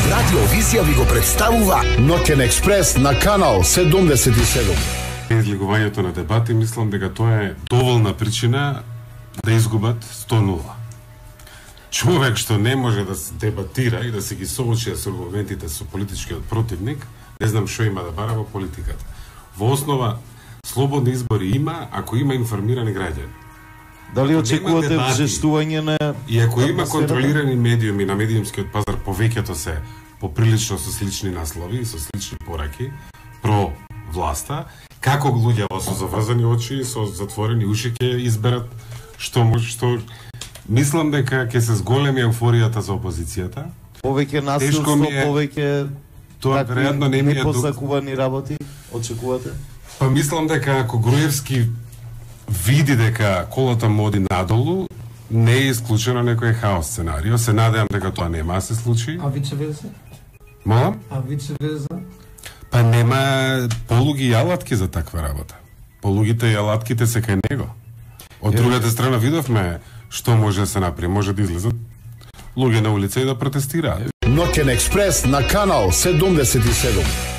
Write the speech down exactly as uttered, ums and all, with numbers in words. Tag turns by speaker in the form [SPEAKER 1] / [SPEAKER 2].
[SPEAKER 1] Радио Визија ви го представува
[SPEAKER 2] Ноќен експрес на канал седумдесет и седум.
[SPEAKER 3] Излигувањето на дебати, мислам дека тоа е доволна причина да изгубат сто нула. Човек што не може да се дебатира и да се ги соочи со аргументите со политичкиот противник, не знам што има да бара во политиката. Во основа, слободни избори има, ако има информирани граѓани.
[SPEAKER 4] Дали очекувате вжестување на...
[SPEAKER 3] И ако има контролирани медиуми на медиумскиот пазар, повеќето се поприлично со слични наслови и со слични пораки, про власта, како луѓе со заврзани очи и со затворени уши ќе изберат што може, што... Мислам дека ќе се зголеми еуфоријата за опозицијата.
[SPEAKER 4] Повеќе насилство, е... повеќе...
[SPEAKER 3] Тоа веројатно не ми е
[SPEAKER 4] непозакувани работи, очекувате?
[SPEAKER 3] Па мислам дека ако Груевски види дека колата му оди надолу, не е исклучено некој хаос сценарио. Се надевам дека тоа нема да се случи.
[SPEAKER 5] А вице-верса?
[SPEAKER 3] Молам?
[SPEAKER 5] А вице-верса?
[SPEAKER 3] Па нема полуги и алатки за таква работа. Полугите и алатките се кај него. Од другата страна видовме што може да се направи. Може да излезат луѓе на улица и да протестираат.
[SPEAKER 2] Ноќен експрес на канал седумдесет и седум.